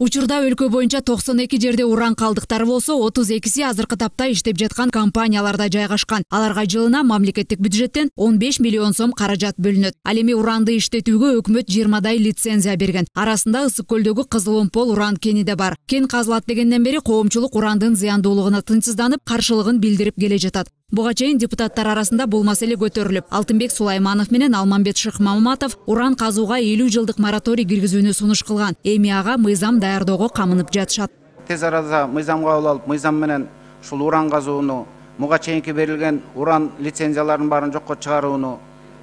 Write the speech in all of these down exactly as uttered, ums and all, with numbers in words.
Учурда өлкө боюнча токсон эки жерде уран калдыктары болсо, отуз экиси азыркы тапта иштеп жаткан компанияларда жайгашкан. Аларга жылына мамлекеттик бюджеттен он беш миллион сом каражат бөлүнөт. Ал эми уранды иштетүүгө өкмөт жыйырмадай лицензия берген. Арасында Ысык көлдөгү Кызыл Омпол уран кени да бар. Кен казылат дегенден бери коомчулук урандын зыяндуулугуна тынчсызданып, каршылыгын билдирип келе жатат. Буга чейин депутаттар арасында бул маселе көтөрүлүп, Алтынбек Сулайманов менен Алмамбет Шыкмаматов уран казууга элүү жылдык мораторий киргизүүнү сунуш кылган. Эми ага мыйзам даярдоого камынып жатышат. Тез арада мыйзам кабыл алып, мыйзам менен ушул уран казууну, муга чейинки берилген уран лицензияларын баарын жокко чыгарууну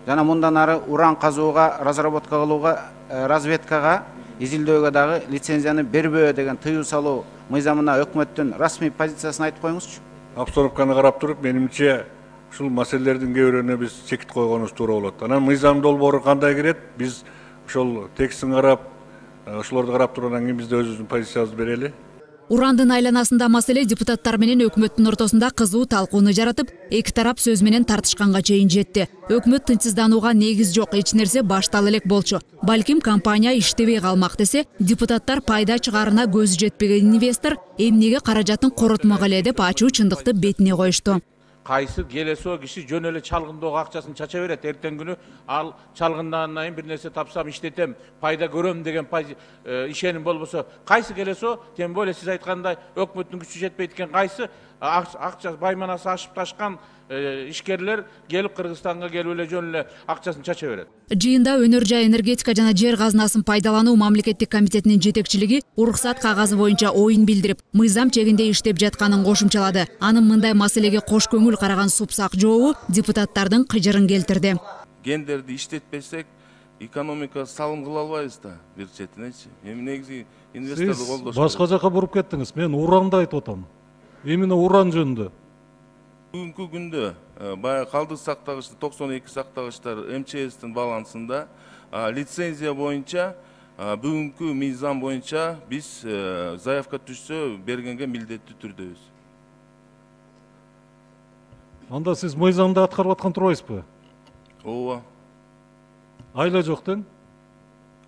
жана мындан ары уран казууга, разработка кылууга, разведкага, изилдөөгө дагы лицензияны бербөө деген тыюу салуу мыйзамына өкмөттүн расмий позициясын айтып коюңузчу. Обстановканы карап туруп, менимче ушул маселелердин кээ бирөөнө биз чекит койгонубуз туура болот. Анан мыйзам долбоору кандай кирет? Биз ошол текстин карап, ошолорду карап туруп, анан кийин биз да өзүбүздүн позициябызды берели. Урандын айланасында маселе депутаттар менен өкмөттүн ортосунда кызуу талкууну жаратып, эки тарап сөз менен тартышканга чейин жетти. Өкмөт тынчсызданууга негиз жок, эч нерсе баштала элек болчу. Балким компания иштебей калмак десе, депутаттар пайда чыгарына көзү жетпеген инвестор эмнеге каражатын коротмок эле деп ачуу чындыкты бетине коюшту. Кайсы келесо киши жөн эле чалгындоого акчасын чача берет. Эртең күнү ал чалгындан кийин бир нерсе тапсам иштетем, пайда көрөм деген ишеним болбосо, кайсы келесо, тем более сиз айткандай өкмөттүн күчү жетпейт экен, кайсы акча байманасы ашып ташкан ишкерлер келип Кыргызстанга келип эле жөн эле акчасын чача берет. Жыйында Өнөр жай энергетика жана жер казынасын пайдалануу мамлекеттик комитетинин жетекчилиги уруксат кагазы боюнча оюн билдирип, мыйзам чегинде иштеп жатканын кошумчалады. Анын мындай маселеге кош көңүл караган супсак жообу депутаттардын кыжырын келтирди. Гендерди иштетпесек, экономика салым кыла албайбыз да бир четинечи. Эми негизи инвесторду колдош. Башка жака буруп кеттиңиз. Мен уранды айтып атам. Именно уран жөнүндө. Бүгүнкү күндө баягы калдык сактагычты токсон эки сактагычтар эм че эстин балансында лицензия боюнча бүгүнкү мыйзам боюнча биз заявка түшсө бергенге милдеттүү түрдөбүз. Анда сиз мыйзамды аткарып аткан турбайсызбы? Ооба. Айла жок тең?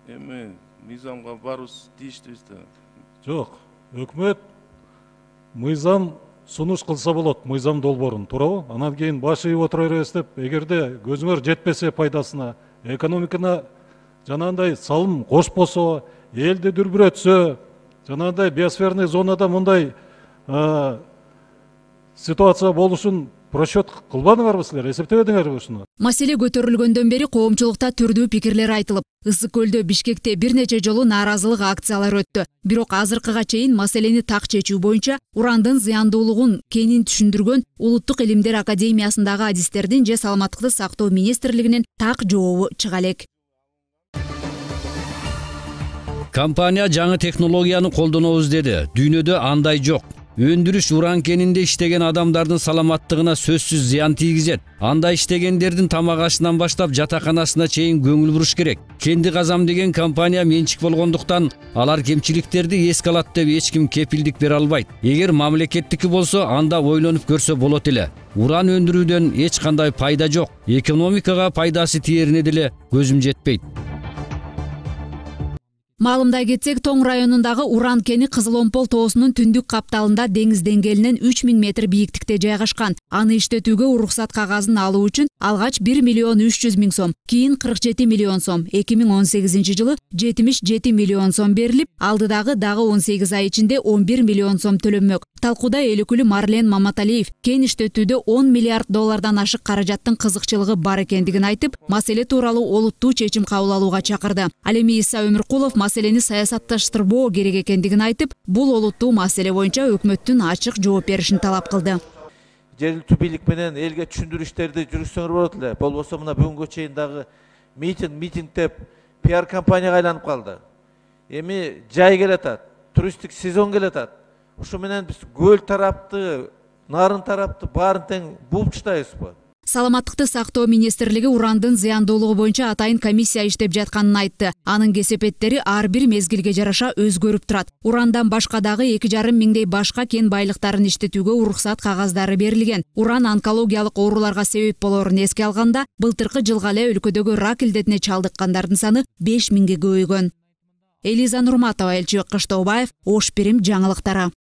Эми мыйзамга барыбыз тийиштүүбүз да. Жок. Өкмөт мыйзам сунуш кылса болот, мыйзам долбоорун, туурабы? Анан кийин баш ийип отура беребиз деп, эгерде көзүңөр жетпесе пайдасына, экономикана жанагындай салым кошпосо, элди дүрбүрөтсө, жанагындай биосферный зонада мындай ситуация болушун просчет кылбадыңарбы силер, эсептебедиңерби ушуну? Маселе көтөрүлгөндөн бери коомчулукта түрдүү пикирлер айтылып, Ысык көлдө, Бишкекте бир нече жолу нааразылык акциялары өттү. Бирок азыркыга чейин маселени так чечүү боюнча урандын зыяндуулугун кенин түшүндүргөн Улуттук илимдер академиясындагы адистердин же саламаттыкты сактоо министрлигинин так жообу чыга элек. Компания жаңы технологияны колдонобуз деди. Дүйнөдө андай жок. Өндүрүш уран кенинде иштеген адамдардын саламаттыгына сөзсүз зыян тийгизет. Анда иштегендердин тамак ашынан баштап жатаканасына чейин көңүл буруш керек. Кенди казам деген компания менчик болгондуктан алар кемчиликтерди эске алат деп эч ким кепилдик бере албайт. Эгер мамлекеттики болсо, анда ойлонуп көрсө болот эле. Уран өндүрүүдөн эч кандай пайда жок. Экономикага пайдасы тиерине деле көзүм жетпейт. Маалымдай кетсек, Тоң районундагы уран кени Кызыл Омпол тоосунун түндүк капталында деңиз деңгээлинен үч миң метр бийиктикте жайгашкан. Аны иштетүүгө уруксат кагазын алуу үчүн алгач бир миллион үч жүз миң сом, кийин кырк жети миллион сом, эки миң он сегизинчи жылы жетимиш жети миллион сом берилип, алдыдагы дагы он сегиз ай ичинде он бир миллион сом төлөнмөк. Талкууда эл өкүлү Марлен Маматалиев кен иштетүүдө он миллиард доллардан ашык каражаттын кызыкчылыгы бар экендигин айтып, маселе тууралуу олуттуу чечим кабыл алууга чакырды. Ал эми Иса Өмүркулов маселени саясатташтырбоо керек экендигин айтып, бул олуттуу маселе боюнча өкмөттүн ачык жооп беришин талап кылды. Жергиликтүү бийлик менен элге түшүндүрүү иштерди жүргүзсөңөр болот эле. Болбосо мына бүгүнгү чейин дагы митинг митинг деп пиар компанияга айланып калды. Эми жай келатат, туристтик сезон келатат. Ушу менен биз көл тарапты, нарын тарапты баарын тең булчтайбызбы? Саламаттыкты сактоо министрлиги урандын зыяндуулугу боюнча атайын комиссия иштеп жатканын айтты. Анын кесепеттери ар бир мезгилге жараша өзгөрүп турат. Урандан башка дагы эки жарым миңдей башка кен байлыктарын иштетүүгө уруксат кагаздары берилген. Уран онкологиялык ооруларга себеп болорун эске алганда, былтыркы жылга эле өлкөдөгү рак илдетине чалдыккандардын саны беш миңге көбөйгөн. Элиза Нурматова, Элчибек Кыштообаев, Ош Бирим жаңылыктары.